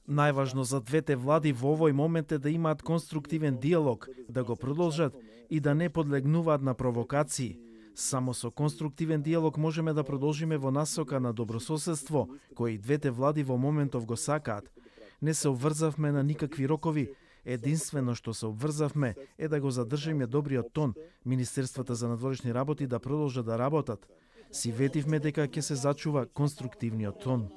Најважно за двете влади во овој момент е да имаат конструктивен диалог, да го продолжат и да не подлегнуваат на провокации. Само со конструктивен диалог можеме да продолжиме во насока на добрососедство, кој и двете влади во моментов го сакаат. Не се обврзавме на никакви рокови. Единствено што се обврзавме е да го задржиме добриот тон, Министерствата за надворешни работи да продолжат да работат. Си ветивме дека ќе се зачува конструктивниот тон.